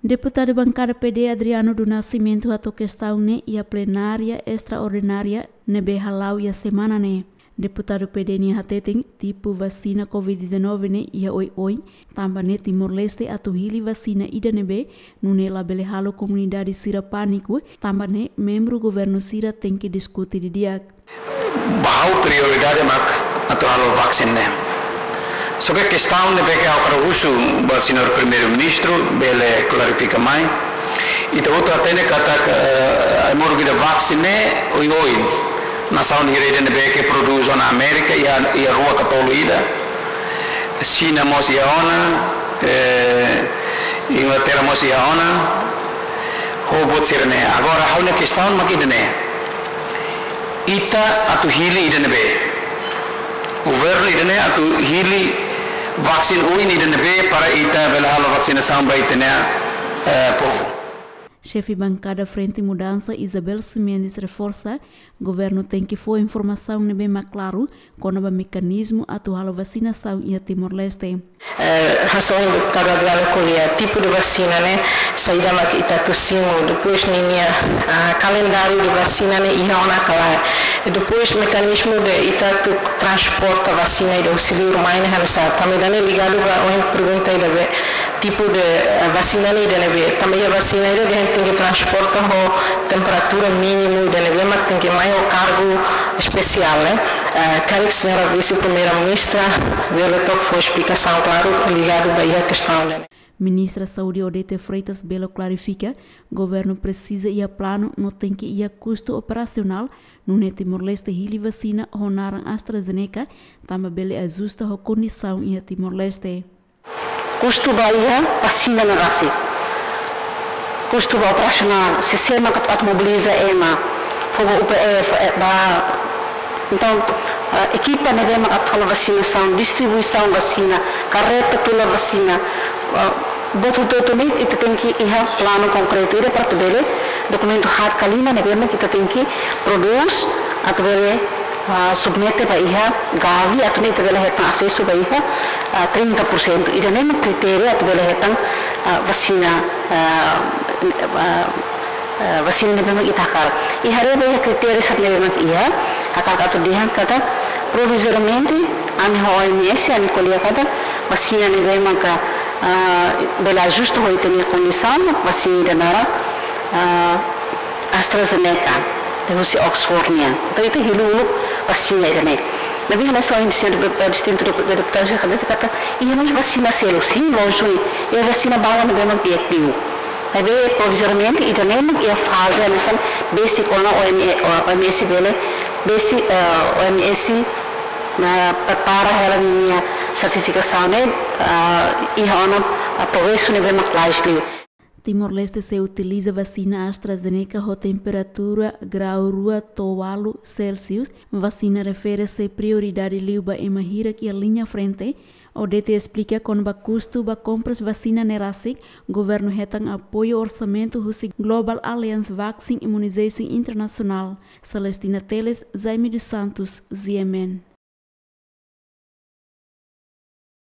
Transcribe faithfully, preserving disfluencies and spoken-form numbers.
Deputadu Bankada P D Adriano do Nascimento hato'o kestaun ne'e iha plenária estraordinária ne'ebé hala'o iha semana ne'e. Deputadu P D nia hateten tipu vasina covid dezanove ne'e iha oioin, tanba ne'e Timor-Leste atu hili vasina ida ne'ebé, nune'e labele halo komunidade sira pániku, tanba ne'e membru governu sira tenke diskute didi'ak. Ba ha'u prioridade mak atu halo vaksin ne'e. Só ke kestaun ne'ebé ke ha'u hakarak husu ba señór Primeiru-Ministru bele klarifika mai. Ita hotu hatene katak, eh, ai-moruk ida vaksin ne'e oioin. Nasaun hira ida ne'ebé ke prodús ona Amérika iha, iha rua ka tolu ida. Xina mós iha ona, eh, Inglaterra mós iha ona. Ho buat sira-ne'e. Agora, ha'u-nia kestaun mak ida-ne'e. Ita atu hili ida ne'ebé. Governu ida-ne'e atu hili vaksin oin ida ne'ebé para ita bele halo vaksinasaun ba ita-nia, eh, povu. Xefe Bankada Frente Mudansa Isabel Ximenes reforsa, governu tenke fó informasaun ne'ebé mak klaru kona-ba mekanizmu atu halo vasinasaun iha Timor-Leste. Eh, hanesan deputadu Adriano ko'alia, tipu de vasina ne'e, saida mak ita atu simu, depois ninia, ah, kalendáriu de vasina ne'e iha ona ka lae. E depois mekanizmu de ita atu transporta vasina ida husi liur mai ne'e oinsá. Tanba ida-ne'e ligadu ba ohin pergunta ida be, tipu de, eh, vasina ne'e ida ne'ebé. Tanba iha vasina ida dehan tenke transporta ho temperatura mínimu ida ne'ebé mak tenke mai ho kargu espesiál, ne'e. Eh, karik señora Vise-Primeira-Ministra bele to'o fó esplikasaun klaru ligadu ba iha kestaun ne'e. Ministra Saúde Odete Freitas bele klarifika, governu presiza iha planu no tenke iha kustu operasionál, nune'e Timor-Leste hili vasina ho naran AstraZeneca, tanba bele ajusta ho kondisaun iha Timor-Leste. Kustu ba iha vasina ne'e rasik. Kustu ba operasionál, sé-sé mak atu, atu mobiliza ema, fó ba U P F, eh, ba. Entaun, eh, ekipa ne'ebé mak atu halo vasinasaun, distribuisaun vasina, karreta tula vasina, eh, buat hotu-hotu ne'e ita tenke iha planu konkretu ida para atu bele dokumentu haat ka lima ne'ebé mak ita tenke prodús atu bele, ah, submete ba iha Gavi, atu nune'e ita bele hetan asesu ba iha, ah, trinta por cento. Ida-ne'e mak kritéria atu bele hetan, ah, vasina, ah, ah, ah, vasina ne'ebé mak ita hakarak. I haree ba iha kritéria sira ne'ebé mak iha, hakarak atu dehan katak provizoriamente, ami ho O M S, ami ko'alia katak vasina ne'ebé maka, ah, bele ajusta ho ita-nia kondisaun, vasina ida naran, ah, AstraZeneca, husi Oxford nian. Entaun ita hili uluk vasina ida-ne'e. Maibé hanesan ohin señór de-, eh, distintu de-, de-, deputadu sira hateten katak, iha mós vasina seluk, sin, lójiku, iha vasina balu ne'ebé mak efetivu. Maibé provizoriamente, ida-ne'e mak iha faze hanesan besik ona O M S, O M S bele, besik, eh, O M S, ne'e prepara hela ninia sertifikasaun ne'e, eh, iha ona, eh, progresu ne'ebé mak lais liu. Timor-Leste sei utiliza vasina AstraZeneca ho temperatura grau rua to'o ualu Celsius. Vasina refere sei prioridade liu ba ema hirak iha liña frente. Odete esplika kona-ba kustu ba kompras vasina ne'e rasik, governu hetan apoiu orsamentu husi Global Alliance Vaccine Immunization International. Celestina Teles, Jaime dos Santos, G M N.